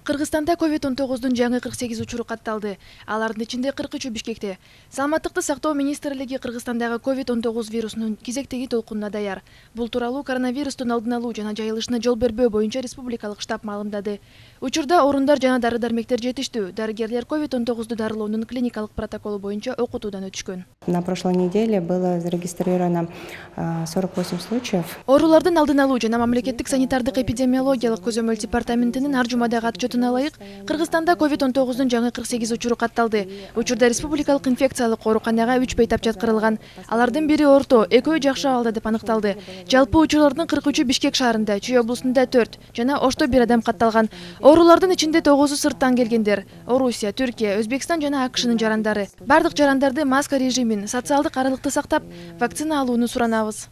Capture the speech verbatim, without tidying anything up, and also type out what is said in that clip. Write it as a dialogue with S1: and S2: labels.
S1: Кыргызстанда ковид он тогуздун жаңы кырк сегиз учуру катталды. Алардын ичинде кырк үчү Бишкекте. Саламаттыкты сактоо министрлиги Кыргызстандагы ковид он тогуз вирусунун кезектеги толкунуна даяр. Бул тууралуу коронавирустун алдын алуу жана жайылышына жол бербөө боюнча республикалык штаб маалымдады. Учурда орундар жана дары-дармектер жетиштүү. Дарыгерлер ковид он тогузду дарылоонун клиникалык протоколу боюнча окутуудан өтүшкөн.
S2: На прошлой неделе было зарегистрировано сорок восемь случаев.
S1: Оорулардын алдын алуу жана мамлекеттик санитардык эпидемиологиялык көзөмөл департаментинин ар жумадагы отчетуна ылайык, Кыргызстанда ковид он тогуздун жаңы кырк сегиз учуру катталды. Учурда республикалык инфекциялык ооруканага үч бейтап жаткырылган. Алардын бири орто, экөө жакшы абалда деп аныкталды. Жалпы учурлардын кырк үчү Бишкек шаарында, Чүй облусунда төрт жана Ошто бир адам катталган. Оорулардын ичинде тогузу сырттан келгендер. Орусия, Түркия, Өзбекстан жана АКШнын жарандары. Бардык жарандарды маска режимин, социалдык аралыкты сактап, вакцина алууну суранабыз.